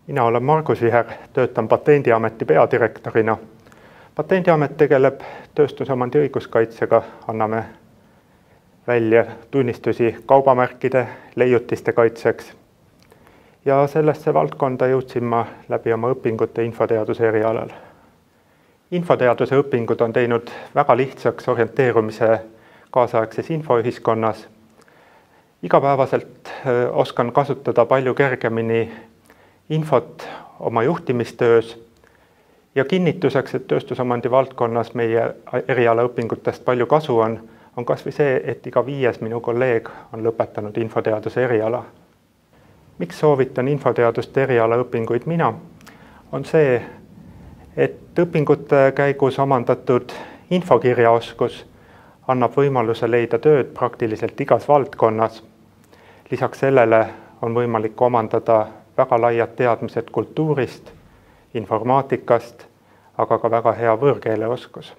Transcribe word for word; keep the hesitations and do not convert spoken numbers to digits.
Mina olen Margus Viher, töötan Patendiameti peadirektorina. Patendiamet tegeleb tööstusomandi õiguskaitsega, anname välja tunnistusi kaubamärkide, leiutiste kaitseks. Ja sellesse valdkonda jõudsin ma läbi oma õpingute infoteaduse erialal. Infoteaduse õpingud on teinud väga lihtsaks orienteerumise kaasaegses infoühiskonnas. Igapäevaselt oskan kasutada palju kergemini infot oma juhtimistöös ja kinnituseks, et tööstusomandi valdkonnas meie erialaõpingutest palju kasu on, on kas või see, et iga viies minu kolleeg on lõpetanud infoteaduse eriala. Miks soovitan infoteaduste erialaõpinguid mina? On see, et õpingute käigus omandatud infokirjaoskus annab võimaluse leida tööd praktiliselt igas valdkonnas. Lisaks sellele on võimalik omandada väga laiad teadmised kultuurist, informaatikast, aga ka väga hea võõrkeeleoskus.